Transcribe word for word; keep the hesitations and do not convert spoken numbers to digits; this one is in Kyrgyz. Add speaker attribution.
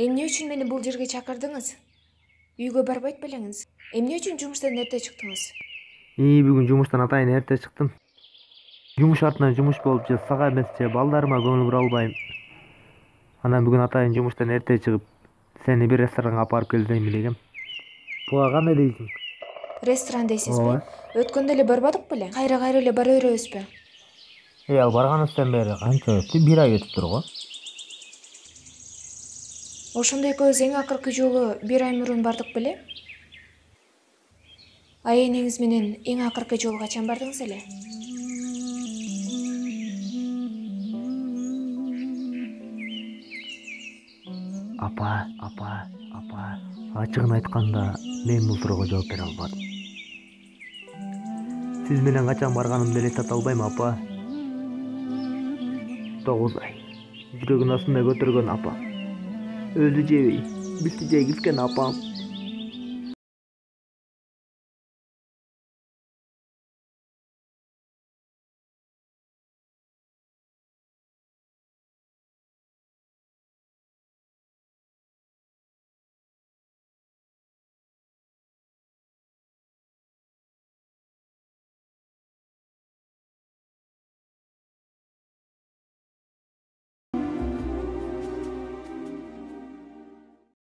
Speaker 1: Эмне үчүн мени бул жерге чакырдыңыз? Үйгө барбайт белеңиз? Эмне үчүн жумуштан эрте чыктыңыз?
Speaker 2: ИИ бүгүн жумуштан атайын эрте чыктым. Жумуш артынан жумуш болуп же сага эмес же балдарыма көңүл бура албайм. Анан бүгүн атайын жумуштан эрте чыгып, сени бир ресторанга алып барып келдейм элегем. Буга кандай дейсиң?
Speaker 1: Ресторан дейсизби?
Speaker 2: Ооба.
Speaker 1: Өткөндө эле барбадык белең? Кайра кайра эле бара беребизби?
Speaker 2: Эй, ал барганыбыздан бери канча өттү? Бир ай өтүптүр го.
Speaker 1: Ошондо экөөбүз эң акыркы жолу бир ай мурун бардык беле? Ай энеңиз менен эң акыркы жолу качан бардыңыз эле?
Speaker 2: Апа, апа, апа. Ачыгын айтканда, мен бул суроого жооп бере албадым. Сиз менен качан барганымды элестете албайм, апа. тогуз ай. Жүрөгүн астында көтөргөн апам. Өзү жебей, бизди жегизген апам.